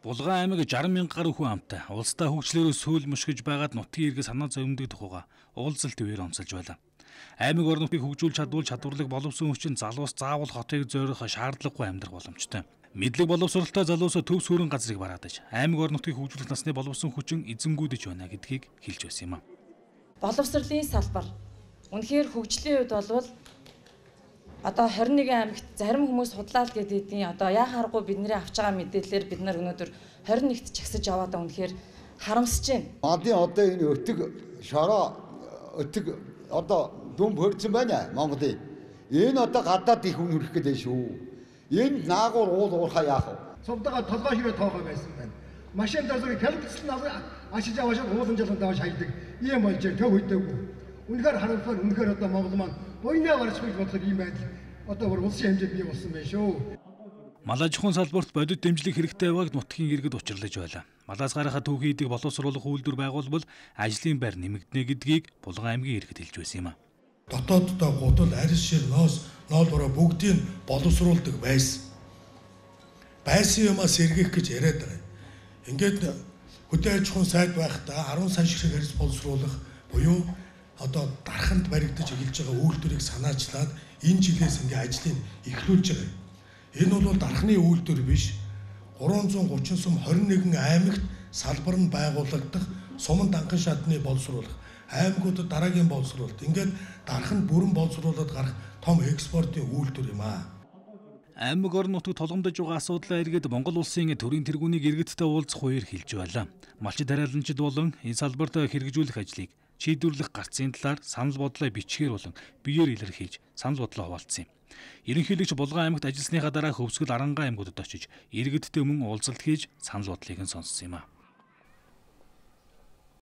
Булган аймаг 60,000 гаруй хүн амтай. Улстай хөгжлөөрөө сүүл мушгиж байгаад нутгийн иргэн санаа зовмдөг тухайга уулзалт үеэр онцолж байлаа. Аймаг орон нутгийг хөгжүүлж чадварлаг боловсон хүчин залуус заавал хотыг зорих шаардлагагүй амьдрах боломжтой. Мэдлэг боловсролтой залуус төв сүрэн газрыг бараад аж аймаг орон нутгийг хөгжүүлэх насны боловсон хүчин эзэнгүүдэж байна гэдгийг хэлж байсан юм а. Боловсролын салбар үнэхээр хөгжлийн үед болвол одоо 21 аймагт зарим хүмүүс худлаа л гэдгийг одоо яхааргүй бидний авч байгаа мэдээлэлээр бид нар өнөөдөр 21-т чагсаж яваад үнэхээр харамсаж байна. Мадын одоо энэ өтөг шороо өтөг одоо дүн бөрцөн байна Монголын. Энэ одоо гадаад их хүн хөрөх гэдэг шүү. Энэ наагур уурхаа яах вэ? Цовдоо толгой ширээ тоохоо байсан байна. Машин дасрыг калбицл ашиж аваад уулан жалан давж хайдаг. Ийм болж төв үйдэггүй. Үнэхээр харамсал үнэхээр одоо Монгол маань буйнаа гарч гэж бодлоо ийм байдал одоо бүр улсын хэмжээнд бий болсон байна шүү. Малаа жухын салбарт бодит дэмжлэг хэрэгтэй байгааг нутгийн иргэд учрлаж байлаа. Малаас гарахад түүхий эдийг боловсруулах үйлдвэр байгуулбал ажлын байр нэмэгдэнэ гэдгийг Булган аймгийн иргэд хэлж байсан юм а. Дотооддоо гудал, арьс шир, ноос, ноолбороо бүгдийг боловсруулдаг байсан. Байсан юмаа сэргээх гэж яриад байгаа. Ингээд хөдөө аж ахуйн сайд байхдаа 10 сая ширхэг арьс боловсруулах буюу одоо дарханд баригдаж эхэлж байгаа үйлдвэрийг санаачлаад энэ жилээс ингээ ажлыг эхлүүлж байгаа. Энэ бол дархны үйлдвэр биш. 330 сум 21 аймагт салбар нь байгуулагдах суман данхан шатны боловсруулах, аймагуудад дараагийн боловсруулалт. Ингээд дархан бүрэн боловсруулаад гарах том экспортын үйлдвэр юм аа. Аймаг орон нутагт толгомдож байгаа асуудлаа эргээд Монгол улсын төрийн тэргүүнийг иргэдтэй уулзах хувьд хэлж байлаа. Малчид тариаланчид болон энэ салбарт хэрэгжүүлэх ажлыг шийдвэрлэх гарцын талаар санал бодлоо бичгээр болон биеэр илэрхийлж санал бодлоо хуваалцсан юм. Ерөнхийлөгч Булган аймагт ажилласныхаа дараа Хөвсгөл Арангаан аймагуудад очиж иргэдтэй мөн уулзалт хийж санал бодлыг нь сонссон юм а.